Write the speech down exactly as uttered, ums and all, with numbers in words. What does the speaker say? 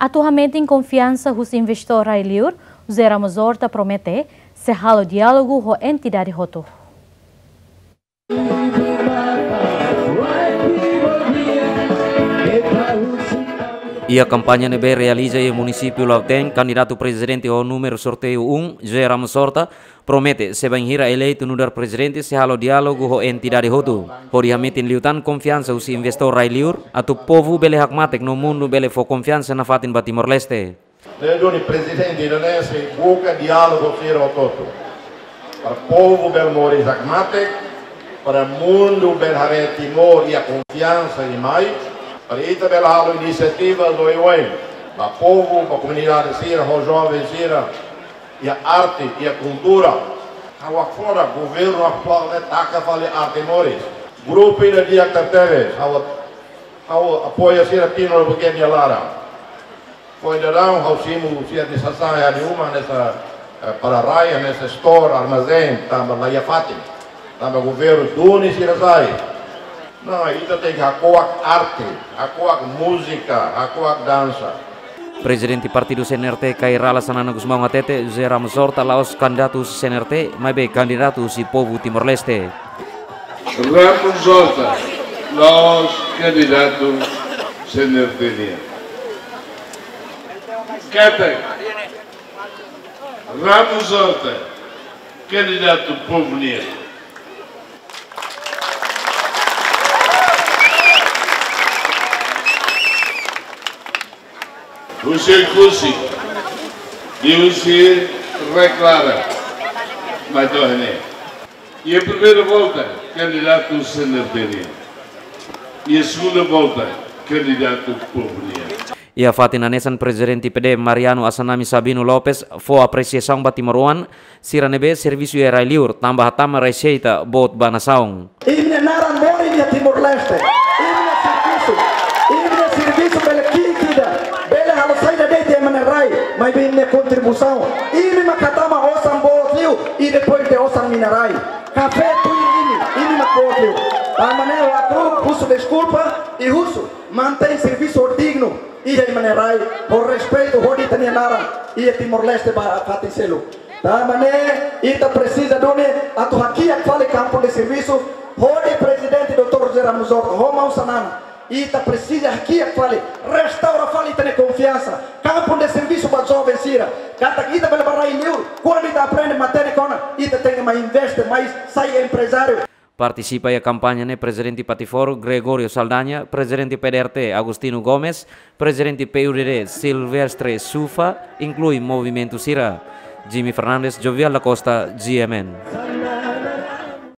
Atu hametin konfiansa husi investór rai-liur, José Ramos Horta promete sei halo diálogu ho entidade hotu. Iha kampaña ne'ebé realiza iha munisípiu Lautém, kandidatu prezidente ho númeru sorteiu um, José Ramos Horta, promete, se bainhira eleitu nu'udar prezidente, sei halo diálogu ho entidade hotu, hodi hametin liután konfiansa husi investór rai-liur, atu povu bele hakmatek no mundu bele fó konfiansa nafatin ba Timor-Leste. Ne'e duni prezidente ida-ne'e sei buka diálogu sira hotu-hotu. Para povu bele moris hakmatek, para mundu bele haree Timor iha konfiansa ida mai, para ita bele halo inisiativa oioin ba povu, ba komunidade sira, ho joven sira, iha arte, iha kultura. Ha'u hakfodak governu atuál ne'e taka fali arte moris. Grupu ida di'ak tebes, ha'u, ha'u apoia sira tinan ne'ebé ke nia laran. Foin daudaun ha'u simu sira nia sasán iha nia uma hanesan, eh, para-rai, hanesan store, armazén, tanba la iha fatin. Tanba governu duni sira sai. Não, ita tenke hako'ak arte, hako'ak múzika, hako'ak dansa. Prezidente Partidu C N R T, Kay Rala Xanana Gusmão hatete, José Ramos Horta la'ós kandidatu husi C N R T, maibé kandidatu husi povu Timor-Leste. Ramos Horta la'ós kandidatu C N R T nian. Katak, Ramos Horta kandidatu povu nian. Husi Oekusi, liuhusi Rai Klaran, mai to'o iha ne'e. Iha primeira volta, kandidatu C N R T nian. Iha segunda volta, kandidatu povu nian. Iha fatin hanesan, Prezidente P D Mariano Assanami Sabino Lopes fó apresiasaun ba timoroan sira ne'ebé servisu iha rai-liur, tanba hatama reseita boot ba nasaun. Imi-nia naran morin iha Timor-Leste. Imi-nia servisu, imi-nia servisu bele ki'ik ida, bele halo saida de'it iha ema nia rai, maibé imi-nia kontribuisaun, imi mak hatama osan boot liu, i depois de osan mina rai. Kafé tuir imi, imi mak boot liu. Tanba ne'e ha'u husu deskulpa, i husu mantein servisu dignu iha ema nia rai, ho respeitu hodi ita-nia naran iha Timor-Leste ba fatin seluk. Tanba ne'e ita presiza duni atu hakiak fali kampu de servisu, hodi Prezidente doutór José Ramos Horta ho maun Xanana, ita presiza hakiak fali, restaura fali ita-nia konfiansa, kampu de servisu ba joven sira, katak ita bele bá rai-liur, kuandu ita aprende matenek ona, ita tenke mai investe, mai sai emprezáriu. Partisipa iha kampaña ne'e Prezidente Patifor Gregório Saldanha, Prezidente P D R T Agostinho Gomes, Prezidente P U D D Silvestre Sufa, inklui movimentu sira. Jimmy Fernandes, Jovial da Costa, G M N.